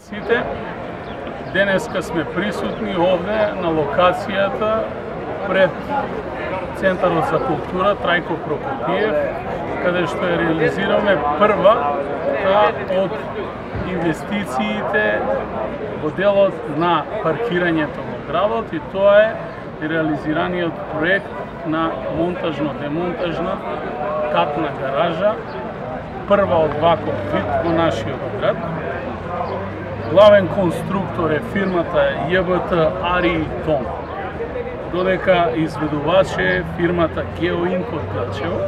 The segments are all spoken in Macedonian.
Сите, денеска сме присутни овде на локацијата пред Центарот за култура Трајко Прокопиев, каде што ја реализираме првата од инвестициите во делот на паркирањето во градот, и тоа е реализираниот проект на монтажно-демонтажна катна гаража, прва од ваков вид во нашиот град. Главен конструктор е фирмата ЈБТ Ари Том, додека изведувач е фирмата Геоинк од Глачево.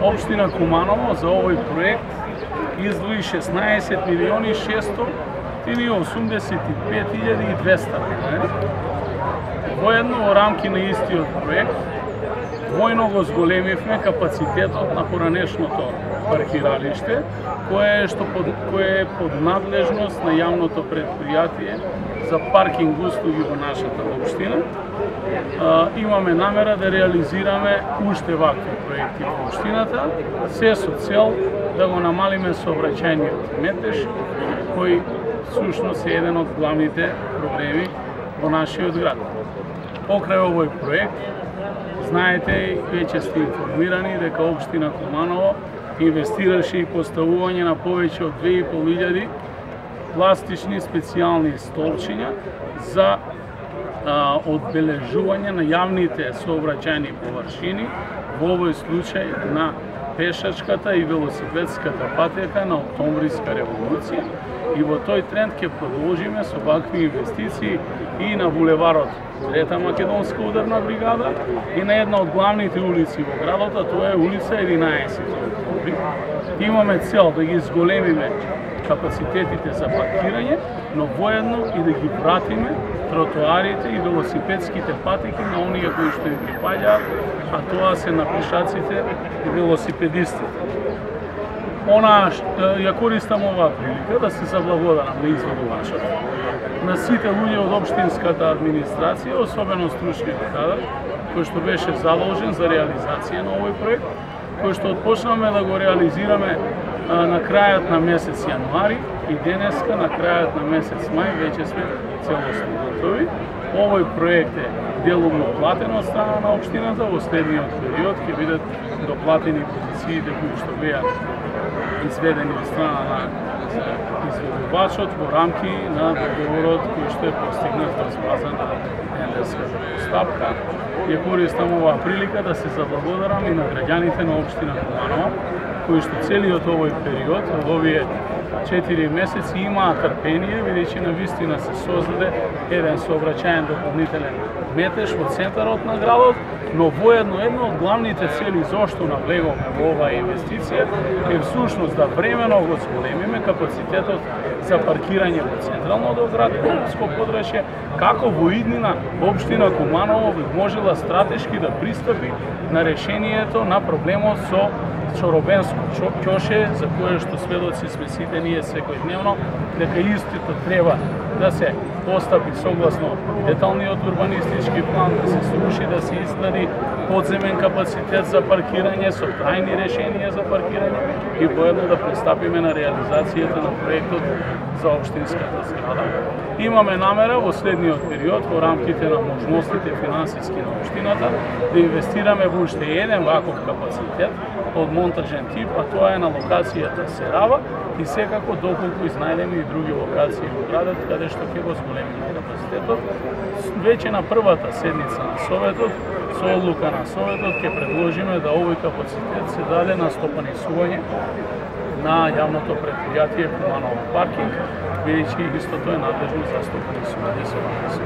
Општина Куманово за овој проект издвои 16.685.200 денари. Воедно во рамки на истиот проект војно го зголемивме капацитетот на поранешното паркиралиште, кое е под надлежност на јавното предпријатие за паркинг услуги во нашата општина. Имаме намера да реализираме уште вакви проекти во општината, се со цел да го намалиме сообраќајниот метеж, кој всушност е еден од главните проблеми во нашиот град. Покрај овој проект, знаете и веќе сте информирани дека општина Куманово инвестираше и поставување на повеќе од 2500 пластични специјални столчиња за одбележување на јавните сообраќајни површини, во овој случај на пешачката и велосипедската патека на Октомвриска револуција, и во тој тренд ќе продолжиме со вакви инвестиции и на булеварот Трета македонска ударна бригада и на една од главните улици во градот, а тоа е улица 11 октомври. Имаме цел да ги зголемиме капацитетите за паркирање, но воедно и да ги вратиме тротоарите и велосипедските патеки на оние кои што им припаѓаат, а тоа се на пешаците и велосипедистите. Ја користам оваа прилика да се заблагодарам на изведувачот, на сите луѓе од општинската администрација, особено стручниот кадар, кој што беше задолжен за реализација на овој проект, кој што отпочнавме да го реализираме на крајот на месец јануари, и денеска на крајот на месец мај веќе сме целосно готови. Овој проект е делумно платен од страна на општината. Во следниот период ќе бидат доплатени позициите кои што беа изведени од страна на изведувачот во рамки на договорот кој што е постигнат врз база на тендерската постапка. Ја користам оваа прилика да се заблагодарам и на граѓаните на општина Куманово, кои што целиот овој период, од овие 4 месеци, имаа трпение, бидејќи навистина се создаде еден сообраќајен дополнителен метеж во центарот на градот, но воедно една од главните цели зошто навлегоме во оваа инвестиција е всушност да времено го зголемиме капацитетот за паркирање во централното градско подрачје, како во иднина општина Куманово би можела стратешки да пристапи на решението на проблемот со Чоробенско ќоше, за кое што сведоци сме сите ние секојдневно, дека истото треба да се постапи согласно деталниот урбанистички план, да се сруши, да се изгради подземен капацитет за паркирање со трајни решенија за паркирање и воедно да пристапиме на реализацијата на проектот за општинската зграда. Имаме намера во следниот период, во рамките на можностите финансиски на општината, да инвестираме во уште еден ваков капацитет од монтажен тип, а тоа е на локацијата Серава, и секако доколку изнајдеме и други локации во градот каде што ќе го зголемиме капацитетот. Веќе на првата седница на Советот, со одлука на Советот, ќе предложиме да овој капацитет се даде на стопанисување на јавното предпријатие Куманово паркинг, бидејќи истото е надлежно за стопанисување со вакви.